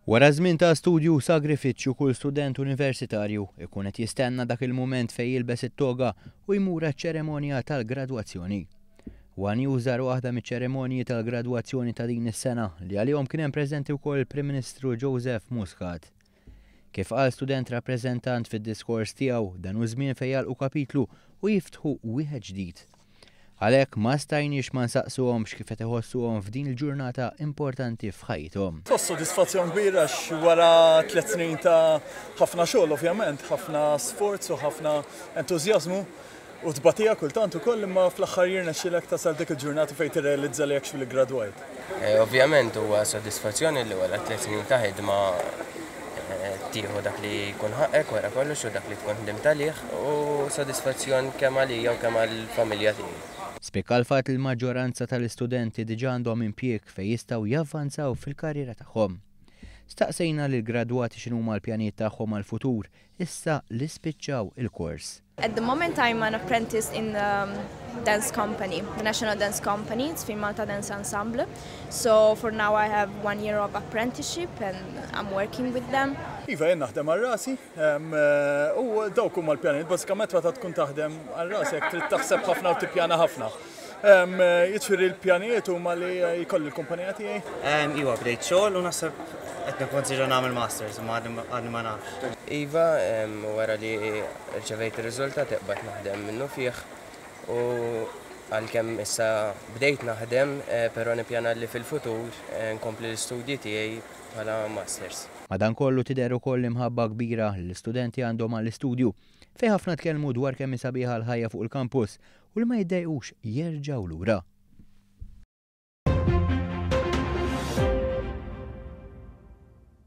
Wara żmien ta' studju u sagrifiċċju, kull student universitarju ikun qed jistenna dak il-mument fejn jilbes it-toga u jmur għaċ-ċeremonja tal-gradwazzjoni. One News żar waħda miċ-ċeremonji tal-gradwazzjoni ta' din is-sena li għalihom kien hemm preżenti wkoll il-Prim Ministru Joseph Muscat. Kif qal student rappreżentant fid-diskors tiegħu, dan hu żmien fejn jagħlqu kapitlu u jiftħu wieħed ġdid. Għalhekk ma stajniex ma nsaqsuhomx kif qed iħossuhom f'din il-ġurnata importanti f'ħajjithom. Tħoss sodisfazzjon kbir għax wara tliet snin ta' ħafna xogħol ovvjament, ħafna sforz u ħafna entużjażmu u tbatija kultant ukoll imma fl-aħħar jirnexxilek tasal dik il-ġurnata fejn tirrealizza li actually gradwajt. Ovvjament huwa sodisfazzjon li wara tliet snin ta' ħidma tieħu dak li jkun ħaqqek wara kollox u dak li tkun ħdimt għalih u sodisfazzjon kemm għalija u kemm għall-familja tiegħi. Spikka l-fatt li l-maġġoranza tal-istudenti diġà għandhom impjieg fejn jistgħu javvanzaw fil-karriera tagħhom. Staqsejna lill-gradwati x'inhuma l-pjanijiet tagħhom għall-futur issa li spiċċaw il-kors. At the moment I'm an apprentice in the dance company, the National Dance Company, it's ŻfinMalta Dance Ensemble. So for now I have one year of apprenticeship and I'm working with them. Iva, jien naħdem għal rasi u dawk huma l-pjanijiet, bażikament meta tkun taħdem għal rasek trid taħseb ħafna u tippjana ħafna. Jiġifieri l-pjanijiet huma li jkolli l-kumpanija tiegħi. Iva, bdejt xogħol u naħseb qed nikkonsidra nagħmel masters, imma għadni ma nafx. Iva, wara li rċevejt ir-riżultat qbadt naħdem minnufih u għalkemm issa bdejt naħdem, però nippjana li fil-futur nkompli l-istudji tiegħi bħala masters. Madankollu tidher ukoll l-imħabba kbira li l-istudenti għandhom għall-istudju, fejn ħafna tkellmu dwar kemm hi sabiħa l-ħajja fuq il-kampus u li ma jiddejqux jerġgħu lura.